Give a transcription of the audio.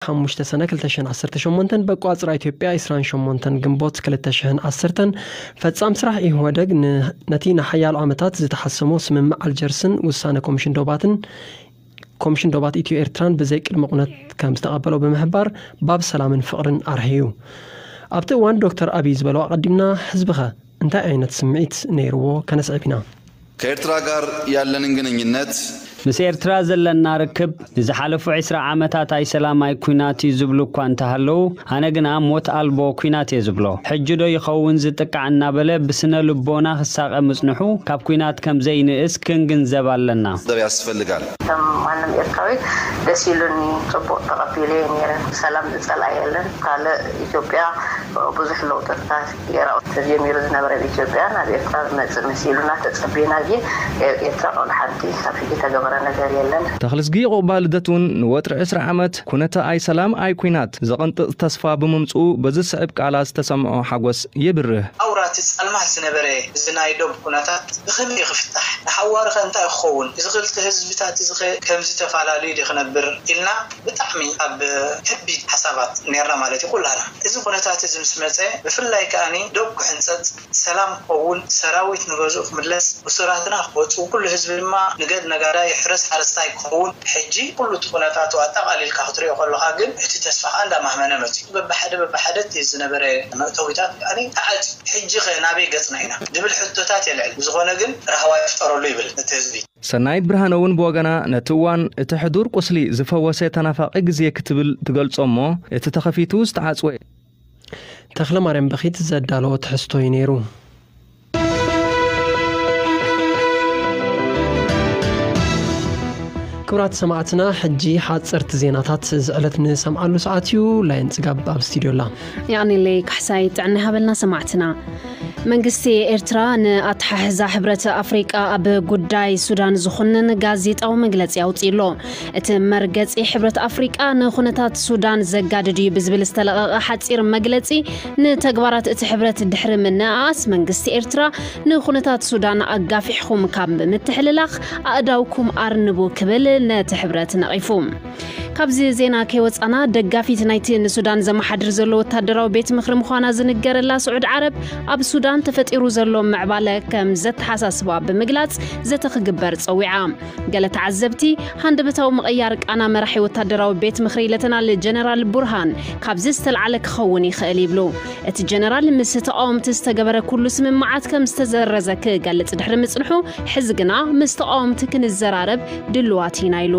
ሓሙሽተ ሰነ ክልተ ሽሕን ዓሰርተ ሸሞንተን፣ በቋጽራ ኢትዮጵያ ዕስራን ሸሞንተን ግንቦት ክልተ ሽሕን ዓሰርተን፣ ፈጻም ስራሕ ኢህወደግ ን-፣ ነቲ ንሓያሎ ዓመታት ዝተሓሰሞ ስምምዕ ኣልጀርስን ውሳነ ኮሚሽን ዶባትን፣ ኮሚሽን ዶባት ኢትዮ ኤርትራን ብዘይ ቅድመ ኩነት ከም ዝተቐበሎ ብምሕባር፣ ባብ ሰላምን ፍቕርን ኣርሕዩ። ኣብቲ እዋን ዶክተር ኣቢይ ዝበሎ ኣቐዲምና፣ ህዝብኸ እንታይ ዓይነት ስምዒት ነይርዎ? ከነስዕብ ኢና። ከኤርትራ ጋር ያለንን ግንኙነት ምስ ኤርትራ ዘለና ርክብ ንዝሓለፉ ዕስራ ዓመታት ኣይሰላም ኣይኩናት እዩ ዝብሉ እኳ እንተሃለዉ፣ ኣነ ግና ሞት ኣልቦ ኩናት እየ ዝብሎ። ሕጂ ዶ ይኸውን ዝጥቃዕ እናበለ ብስነ ልቦና ክሳቐ ምጽንሑ ካብ ኩናት ከም ዘይንእስ ክንግንዘብ ኣለና። ሰብ ያስፈልጋል። ከም ማንም ኤርትራዊ ደስ ኢሉኒ፣ ጽቡቕ ተቐቢለ እየ ነይረ። ሰላም ዝጸልኣ የለን። ካልእ ኢትዮጵያ ብዙሕ ለውጥታት ገይራ ተጀሚሩ ዝነበረ ኣብ ኢትዮጵያ ናብ ኤርትራ ዝመጽእ መሲሉና ተጸቢና፣ ግን ኤርትራ ቆልሓንቲ ካብ ሕጂ ተገበረ ነገር የለን። ተኽልዝጊ ቁባል ልደት እውን ንወጥሪ ዕስራ ዓመት ኩነተ ኣይ ሰላም ኣይ ኩናት ዘቐንጥጥ ተስፋ ብምምጽኡ በዚ ስዕብ ቃላት ዝተሰምዖ ሓጎስ የብርህ። ኣውራቲ ጸልማት ዝነበረ እዚ ናይ ዶብ ኩነታት ብኸመይ ክፍታሕ? ንሓዋርኸ እንታይ ክኸውን? እዚ ክልተ ህዝብታት እዚ ኸ ከምዚ ተፈላለዩ ድዩ ክነብር? ኢልና ብጣዕሚ ኣብ ከቢድ ሓሳባት ነርና ማለት እዩ ኩላና። እዚ ኩነታት እዚ ምስ መጸ፣ ብፍላይ ከኣኒ ዶብ ክሕንጸጽ፣ ሰላም ክኸውን፣ ሰራዊት ንገዝኡ ክምለስ፣ እሱራትና ክወጹ፣ ኩሉ ህዝቢ ድማ ንገድ ነጋዳይ፣ ሕረስ ሓረስታይ ክኸውን፣ ሕጂ ኩሉ እቲ ኩነታቱ ኣጠቓሊልካ ክትሪኦ ከለኻ ግን እቲ ተስፋ ከኣ እንዳማህመነ መጺኡ። በብሓደ በብሓደ እቲ ዝነበረ መእተዊታት ከኣኒ ተዓጽዩ። ሕጂ ኸ ናበይ ገጽና ኢና? ዝብል ሕቶታት የልዕል። ብዝኾነ ግን ራህዋ ይፍጠረሉ ይብል እቲ ህዝቢ። ሰናይት ብርሃነ እውን ብወገና ነቲ እዋን እቲ ሕዱር ቁስሊ ዝፈወሰ ተናፋቒ ግዜ ክትብል ትገልጾ እሞ፣ እቲ ተኸፊቱ ዝተዓጽወ። ተኽለ ማርያም በኺት ዘዳለዎ ትሕዝቶ እዩ ነይሩ። ክቡራት ሰማዕትና፣ ሕጂ ሓጸርቲ ዜናታት እዚ ዕለት ንሰምዓሉ ሰዓት እዩ። ላይን ጽጋብ ኣብ ስቱድዮ ኣላ። የቐንየለይ ካሕሳይ፣ ጥዕና ይሃበልና ሰማዕትና። መንግስቲ ኤርትራ ንኣተሓሕዛ ሕብረት ኣፍሪቃ ኣብ ጉዳይ ሱዳን ዝኹንን ጋዜጣዊ መግለጺ ኣውጺኡ ኣሎ። እቲ መርገጺ ሕብረት ኣፍሪቃ ንኹነታት ሱዳን ዘጋድድ እዩ ብዝብል ዝተለቐቐ ሓጺር መግለጺ፣ ንተግባራት እቲ ሕብረት ድሕሪ ምንእኣስ መንግስቲ ኤርትራ ንኹነታት ሱዳን ኣጋፊሕኹም ካብ ምትሕልላኽ ኣእዳውኩም ኣርንቡ ክብል ነቲ ሕብረት ነቒፉ። ካብዚ ዜና ከይወጻና፣ ደጋፊት ናይቲ ንሱዳን ዘመሓድር ዘሎ ወታደራዊ ቤት ምኽሪ ምዃና ዝንገረላ ስዑድ ዓረብ፣ ኣብ ሱዳን ተፈጢሩ ዘሎ ምዕባለ ከም ዘተሓሳስባ ብምግላጽ ዘተ ክግበር ጸዊዓ። ገለ ተዓዘብቲ፣ ሃንደበታዊ ምቕያር ቃና መራሒ ወታደራዊ ቤት ምኽሪ ሌተናል ጀነራል ቡርሃን ካብዚ ዝተልዓለ ክኸውን ይኽእል ይብሉ። እቲ ጀነራል ምስ ተቓወምቲ ዝተገበረ ኩሉ ስምምዓት ከም ዝተዘረዘ ክገልጽ ድሕሪ ምጽንሑ፣ ሕዚ ግና ምስ ተቓወምቲ ክንዘራረብ ድልዋት ኢና ኢሉ።